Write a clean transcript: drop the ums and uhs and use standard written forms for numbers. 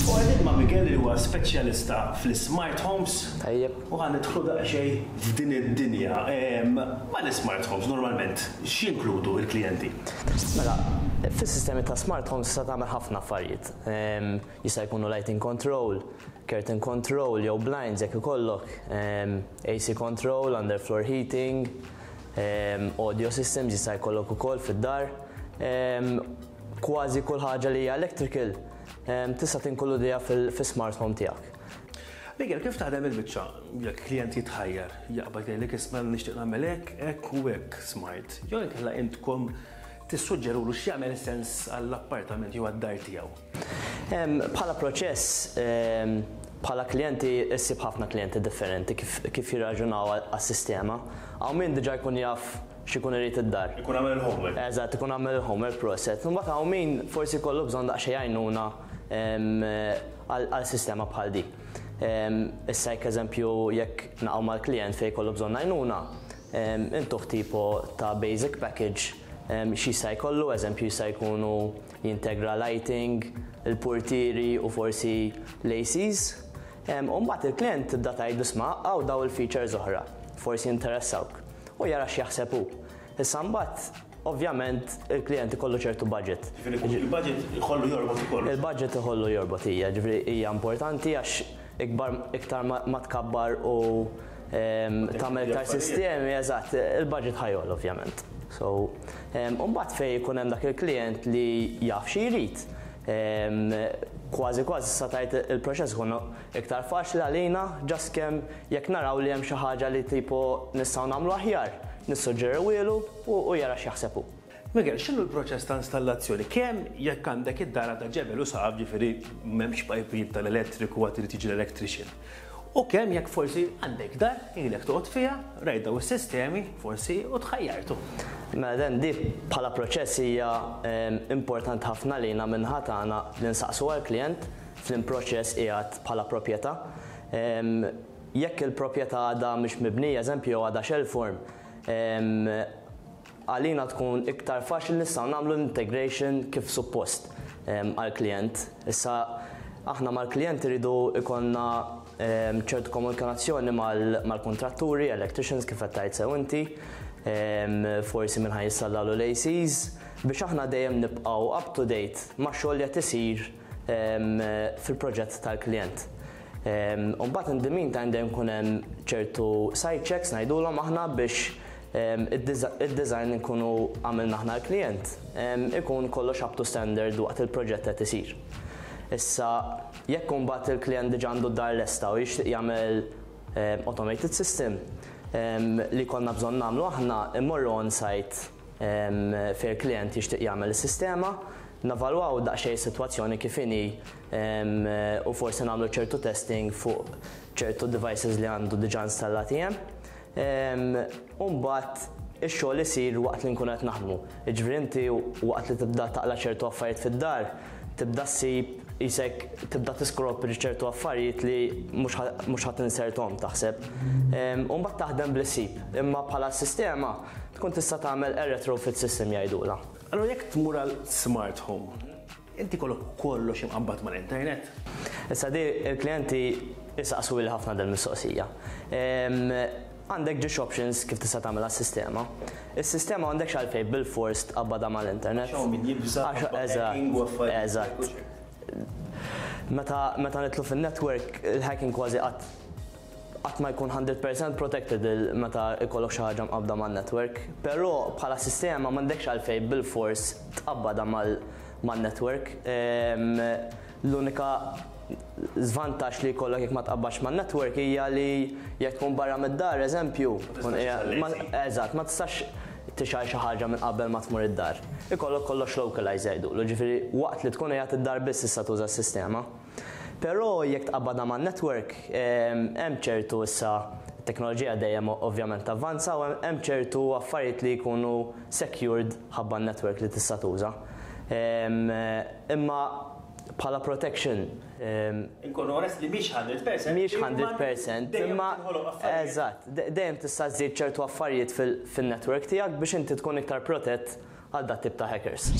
U qegħdin ma' Miguel li huwa speċjalista fl-ismart homes. Tajjeb. U ħa nidħlu daqsxejn f'din id-dinja. Mal-ismart homes normalment x'jinkludu l-klijenti? Mela, fis-sistemi ta' smart homes tista' tagħmel ħafna affarijiet. Jista' jkunu lighting control, curtain control jew blinds jekk ikollok, AC control, underfloor heating, audio systems jista' jkollok ukoll fid-dar. Kważi kull ħaġa li hija electrical tista' tinkludiha fis-smart home tiegħek. Miguel, kif taħdem il-biċċa jekk klient jitħajjar, jaqbad jgħidlek isma' nixtieq nagħmel hekk, hekk u hekk smart. Jew inkella intkom tissuġġerulu x'jagħmel sens għall-appartament jew għad-dar tiegħu? Bħala proċess, bħala klijenti issib ħafna klijenti differenti kif jirraġunaw għas-sistema. Hawn min diġà jkun jaf x'ikun irid id-dar. Ikun għamel il-homework. Eżatt, ikun għamel il-homework proset. Imbagħad hawn min forsi jkollu bżonn daqsxejn għajnuna għal sistema bħal di. Issa jekk eżempju jekk naqgħu mal-klijent fejn jkollu bżonn għajnuna, intuh tipo ta' basic package x'jista' jkollu, eżempju jista' jkunu jintegra lighting, il-purtieri u forsi l-ACs. U mbagħad il-klijent tibda tgħidlu isma' hawn daw il-features oħra, forsi jinteressawk. U jara x'jaħseb hu. Issa mbagħad ovvjament il-klijent ikollu ċertu budget. Ġifieri il-budget ikollu jorbot ukoll. Il-budget ikollu jorbot hija, ġifieri hija importanti għax ikbar iktar ma tkabbar u tagħmel iktar sistemi, eżatt, il-budget ħa jogħla ovvjament. So, u mbagħad fejn ikun hemm dak il-klijent li jaf xi jrid, kważi kważi sa tgħid il-proċess ikun iktar faċli għalina just kemm jekk naraw li hemm xi ħaġa li tipo nistgħu nagħmlu aħjar, nissuġġeriwielu u jara x'jaħseb hu. Miguel, x'inhu l-proċess ta' installazzjoni? Kemm jekk għandek id-dar għadha ġebel u saqaf, ġifieri m'hemmx pajpijiet tal-elettriku għad irid jiġi l-electrician. U kemm jekk forsi għandek dar, ilek toqgħod fiha, rajt daw is-sistemi, forsi u tħajjartu. Mela dan di bħala proċess hija importanti ħafna lina min-naħa tagħna li nsaqsu għall-klijent f'liem proċess qiegħed bħala proprjetà. Jekk il-proprjetà għadha mhix mibnija, eżempju, jew għadha shell form, għalina tkun iktar faċli nistgħu nagħmlu l-integration kif suppost għall-klijent. Issa aħna mal-klijent iridu jkollna ċertu komunikazzjoni mal-kuntratturi, electricians kif qed tgħid sew inti, forsi min ħa jinstallalu l-ACs, biex aħna dejjem nibqgħu up to date max-xogħol li qed isir fil-proġett tal-klijent. U mbagħad in the meantime dejjem ikun hemm ċertu site checks ngħidulhom aħna biex id-design li nkunu għamilna aħna l-klijent ikun kollox up to standard waqt il-proġett qed isir. Issa jekk imbagħad il-klijent diġà għandu d-dar lesta u jixtieq jagħmel automated system li jkollna bżonn nagħmlu aħna immorru on site fejn il-klijent jixtieq jagħmel is-sistema, navalwaw daqsxejn is-sitwazzjoni kif inhi u forsi nagħmlu ċertu testing fuq ċertu devices li għandu diġà installati hemm. U mbagħad ix-xogħol isir waqt li nkunu qed naħdmu. Jiġifieri inti waqt li tibda taqla' ċertu affarijiet fid-dar, tibda ssib qisek tibda tiskopri ċertu affarijiet li mhux ħa tinserthom taħseb. U mbagħad taħdem bli ssib. Imma bħala sistema tkun tista' tagħmel a retrofit system jgħidulha. Allura jekk tmur għal smart home, inti jkollok kollox imqabbad mal-internet? Issa di il-klijenti jsaqsuli ħafna dil-mistoqsija. Għandek ġiex options kif tista' tagħmilha s-sistema. Is-sistema m'għandekx għalfejn bilfors tqabbadha mal-internet. Għax hawn min jibża' ħabba hacking u affarijiet. Eżatt. Meta meta nidħlu fin-network, il-hacking kważi qatt qatt ma jkun 100% protected meta jkollok xi ħaġa mqabbda man-network. Però bħala sistema m'għandekx għalfejn bilfors tqabbadha man-network. L-unika żvantaġġ li jkollok jekk ma tqabbadx man-network hija li jekk tkun barra mid-dar, eżempju, eżatt, ma tistax tixgħel xi ħaġa minn qabel ma tmur id-dar. Ikollok kollox localized jgħidulu, ġifieri waqt li tkun qiegħed id-dar biss tista' tuża s-sistema. Però jekk tqabbadha man-network, hemm ċertu issa t-teknoloġija dejjem ovvjament tavvanza u hemm ċertu affarijiet li jkunu secured ħabba n-network li tista' tuża. Imma bħala protection. Inkunu onest li mhix 100%. Mhix 100%, imma eżatt, dejjem tista' żżid ċertu affarijiet fin-network tiegħek biex inti tkun iktar protett għal dat tip ta' hackers.